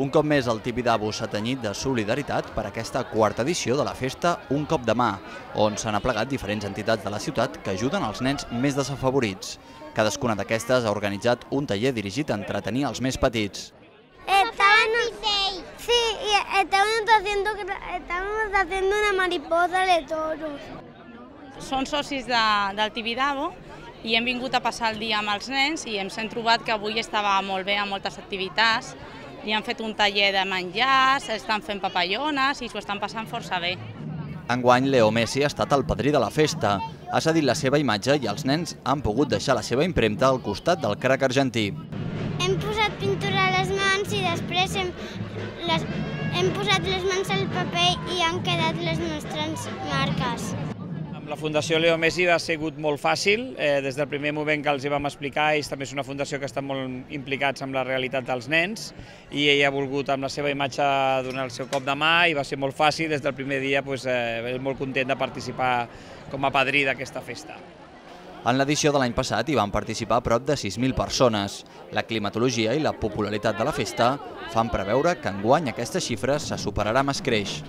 Un cop més el Tibidabo s'ha tenyit de solidaritat per aquesta quarta edició de la festa Un cop de mà, on s'han aplegat diferents entitats de la ciutat que ajuden els nens més desafavorits. Cadascuna d'aquestes ha organitzat un taller dirigit a entretenir els més petits. Sí, estábamos haciendo una mariposa de toros. Són socis del Tibidabo i hem vingut a passar el dia amb els nens i ens hem trobat que avui estava molt bé amb moltes activitats. Li han fet un taller de menjars, estan fent papallones i s'ho estan passant força bé. Enguany, Leo Messi ha estat el padrí de la festa. Ha cedit la seva imatge i els nens han pogut deixar la seva impremta al costat del crac argentí. Hem posat pintura a les mans i després hem posat les mans al paper i han quedat les nostres marques. Amb la Fundació Leo Messi ha sigut molt fàcil, des del primer moment que els hi vam explicar. Ells també és una fundació que estan molt implicats amb la realitat dels nens i ell ha volgut amb la seva imatge donar el seu cop de mà i va ser molt fàcil. Des del primer dia molt content de participar com a padrí d'aquesta festa. En l'edició de l'any passat hi van participar prop de 6.000 persones. La climatologia i la popularitat de la festa fan preveure que enguany aquesta xifra se superarà amb escreix.